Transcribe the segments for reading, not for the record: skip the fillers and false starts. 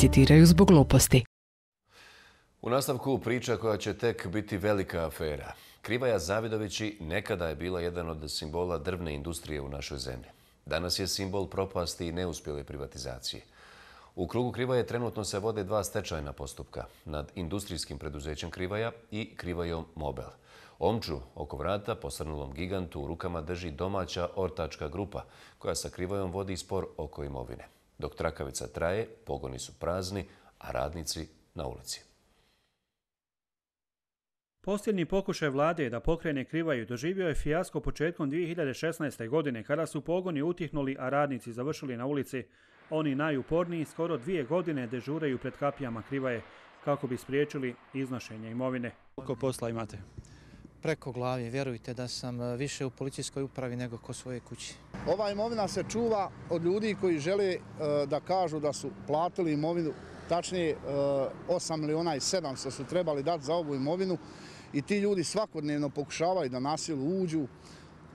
citiraju zbog gluposti. U nastavku priča koja će tek biti velika afera. Krivaja Zavidovići nekada je bila jedan od simbola drvne industrije u našoj zemlji. Danas je simbol propasti i neuspjele privatizacije. U krugu Krivaje trenutno se vode 2 stečajna postupka nad industrijskim preduzećem Krivaja i Krivajom Mobel. Omču oko vrata posrnulom gigantu u rukama drži domaća ortačka grupa koja sa Krivajom vodi spor oko imovine. Dok trakavica traje, pogoni su prazni, a radnici na ulici. Posljednji pokušaj vlade da pokrene Krivaju doživio je fijasko početkom 2016. godine kada su pogoni utihnuli, a radnici završili na ulici. Oni najuporniji skoro 2 godine dežuraju pred kapijama Krivaje kako bi spriječili iznošenje imovine. Koliko posla imate? Preko glavi, vjerujte da sam više u policijskoj upravi nego ko svoje kući. Ova imovina se čuva od ljudi koji žele da kažu da su platili imovinu, tačnije 8.700.000 su trebali dati za ovu imovinu i ti ljudi svakodnevno pokušavaju da na silu uđu,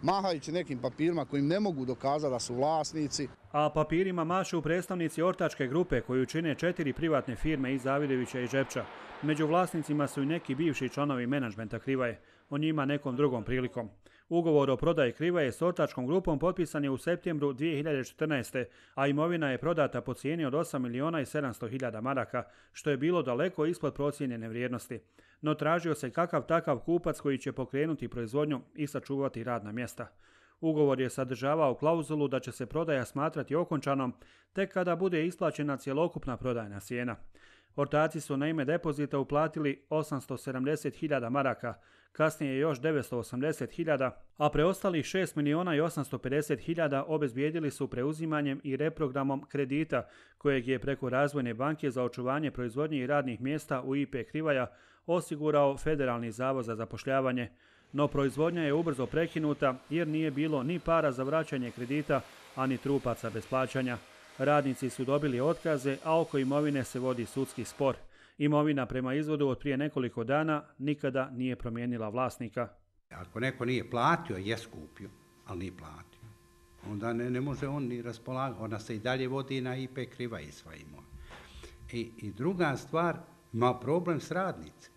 mahajući nekim papirima kojim ne mogu dokazati da su vlasnici. A papirima mašu predstavnici ortačke grupe koju čine 4 privatne firme iz Zavidovića i Žepča. Među vlasnicima su i neki bivši članovi menadžmenta Krivaje, o njima nekom drugom prilikom. Ugovor o prodaji Krivaje s ortačkom grupom potpisan je u septembru 2014. a imovina je prodata po cijeni od 8.700.000 maraka, što je bilo daleko ispod procijenjene vrijednosti. No tražio se kakav takav kupac koji će pokrenuti proizvodnju i sačuvati radna mjesta. Ugovor je sadržavao klauzulu da će se prodaja smatrati okončanom tek kada bude isplaćena cjelokupna prodajna cijena. Ortaci su na ime depozita uplatili 870.000 maraka, kasnije još 980.000, a preostalih 6.850.000 obezbijedili su preuzimanjem i reprogramom kredita kojeg je preko Razvojne banke za očuvanje proizvodnje i radnih mjesta u IP Krivaja osigurao Federalni zavod za zapošljavanje. No proizvodnja je ubrzo prekinuta jer nije bilo ni para za vraćanje kredita, ani trupaca bez plaćanja. Radnici su dobili otkaze, a oko imovine se vodi sudski spor. Imovina prema izvodu od prije nekoliko dana nikada nije promijenila vlasnika. Ako neko nije platio, je skupio, ali nije platio. Onda ne može on ni raspolagati. Ona se i dalje vodi na IP Krivaje sva imovina. I druga stvar, ima problem s radnicima.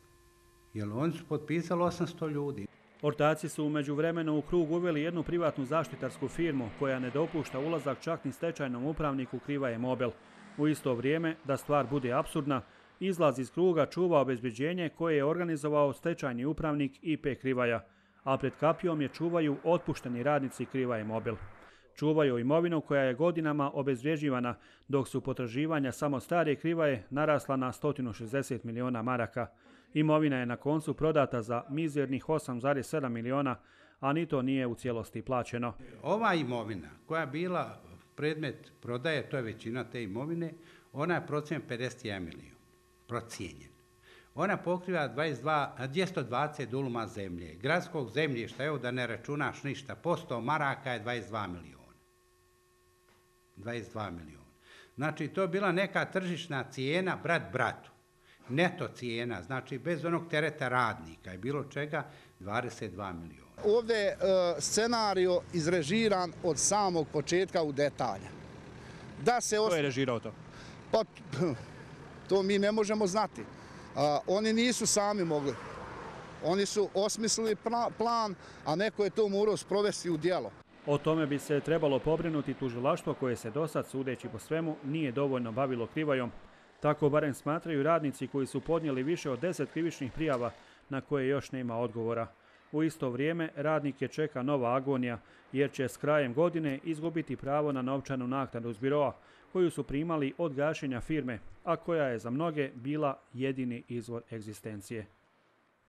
Jer oni su potpisali 800 ljudi. Ortaci su u međuvremenu u krug uveli jednu privatnu zaštitarsku firmu koja ne dopušta ulazak čak ni stečajnom upravniku Krivaje Mobel. U isto vrijeme, da stvar bude apsurdna, izlaz iz kruga čuva obezbeđenje koje je organizovao stečajni upravnik IP Krivaja, a pred kapijom je čuvaju otpušteni radnici Krivaje Mobel. Čuvaju imovinu koja je godinama obezvrijeđivana, dok su potraživanja samo stare Krivaje narasla na 160 miliona maraka. Imovina je na koncu prodata za mizernih 8,7 miliona, a ni to nije u cijelosti plaćeno. Ova imovina koja je bila predmet prodaje, to je većina te imovine, ona je procijenjena 51 milion. Procijenjen. Ona pokriva 220 duluma zemlje. Gradskog zemljišta, evo da ne računaš ništa, po 100 maraka je 22 miliona. 22 miliona. Znači, to je bila neka tržišna cijena brat bratu. Neto cijena, znači bez onog tereta radnika i bilo čega, 22 miliona. Ovdje je scenario izrežiran od samog početka u detalja. Ko je režirao to? Pa, to mi ne možemo znati. Oni nisu sami mogli. Oni su osmislili plan, a neko je to morao sprovesti u djelo. O tome bi se trebalo pobrinuti tužilaštvo koje se dosad, sudeći po svemu, nije dovoljno bavilo Krivajom. Tako barem smatraju radnici koji su podnijeli više od 10 krivičnih prijava na koje još nema odgovora. U isto vrijeme radnike čeka nova agonija jer će s krajem godine izgubiti pravo na novčanu naknadu s biroa koju su primali od gašenja firme, a koja je za mnoge bila jedini izvor egzistencije.